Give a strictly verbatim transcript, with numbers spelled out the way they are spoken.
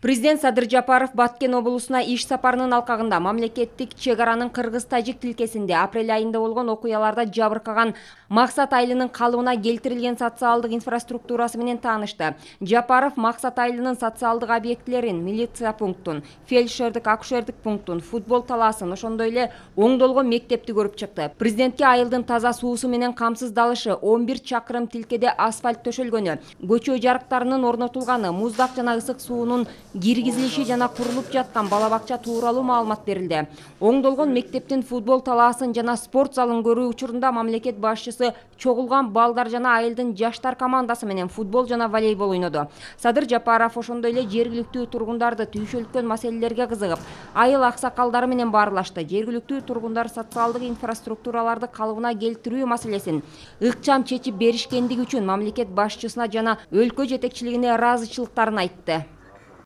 Президент Садыр Жапаров Баткен облусуна иш сапарынын алкагында мамлекеттик чек аранын кыргыз-тажик тилкесинде апрель айында болгон окуяларда жабыркаган Максат айылынын калыбына келтирилген социалдык инфраструктурасы менен таанышты. Жапаров Максат айылынын социалдык объектилерин, милиция пунктун, фельдшердик акушердик пунктун, футбол талаасын, ошондой эле оңдолгон мектепти көрүп чыкты. Президентке айылдын таза суусу менен камсыздалышы, он бир чакырым тилкеде асфальт төшөлгөнү, көчө жарыктарынын орнотулганы, муздак жана ысык суунун киргизилиши жана курулуп жаткан бала бакча тууралуу маалымат берилди. Оңдолгон мектептин футбол талаасын жана спорт залын көрүү учурунда мамлекет башчысы чогулган балдар жана айылдын жаштар командасы менен футбол жана волейбол ойноду. Садыр Жапаров ошондой эле жергиликтүү тургундарды түйшөлткөн маселелерге кызыгып, айыл аксакалдары менен баарлашты. Жергиликтүү тургундар социалдык инфраструктураларды калыбына келтирүү маселесин ыкчам чечип беришкендиги үчүн мамлекет башчысына жана өлкө жетекчилигине ыраазычылыктарын айтты.